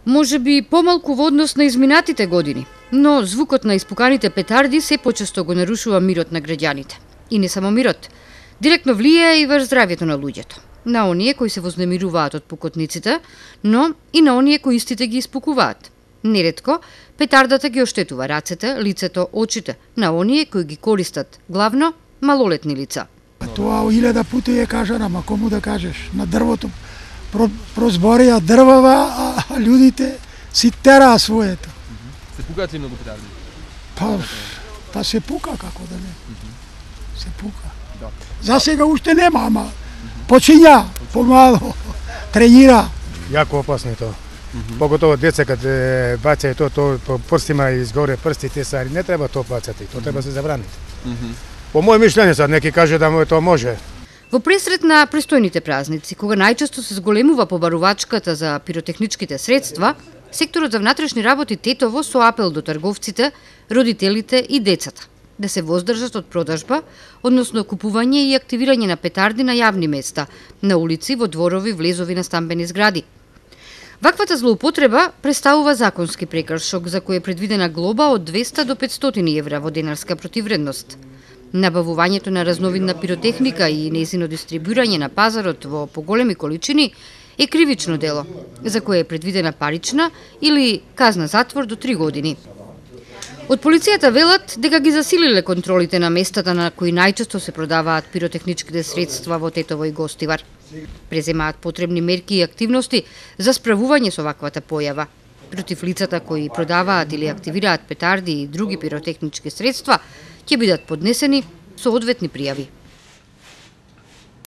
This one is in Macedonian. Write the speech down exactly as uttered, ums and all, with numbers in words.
Може би помалку во однос на изминатите години, но звукот на испуканите петарди се почесто го нарушува мирот на граѓаните. И не само мирот, директно влијае и врз здравјето на луѓето, на оние кои се вознемируваат од пукотниците, но и на оние кои истите ги испукуваат. Неретко, петардата ги оштетува рацете, лицето, очите на оние кои ги користат, главно малолетни лица. Тоа илјада пати е кажано, ама кому да кажеш, на дрвото прозборија дрвава, а луѓите си тераа своето. Се пукаат ли многу петарди? Па, па се пука, како да не. Се пука. За сега уште нема, ама почиња, помало, тренира. Јако опасно е тоа. Поготово деца кад баќај тоа, тоа по прстима изгоре прстите сари, не треба тоа бацати, тоа треба се забрани. По моје мишлење сад, неки каже да тоа може. Во пресрет на престојните празници, кога најчесто се зголемува побарувачката за пиротехничките средства, секторот за внатрешни работи Тетово со апел до трговците, родителите и децата да се воздржат од продажба, односно купување и активирање на петарди на јавни места, на улици, во дворови, влезови на стамбени згради. Ваквата злоупотреба представува законски прекршок за кој е предвидена глоба од двесте до петстотини евра во денарска противредност. Набавувањето на разновидна пиротехника и нејзино дистрибуирање на пазарот во поголеми количини е кривично дело, за кое е предвидена парична или казна затвор до три години. Од полицијата велат дека ги засилиле контролите на местата на кои најчесто се продаваат пиротехничките средства во Тетово и Гостивар. Преземаат потребни мерки и активности за справување со ваквата појава. Против лицата кои продаваат или активираат петарди и други пиротехнички средства ќе бидат поднесени соодветни пријави.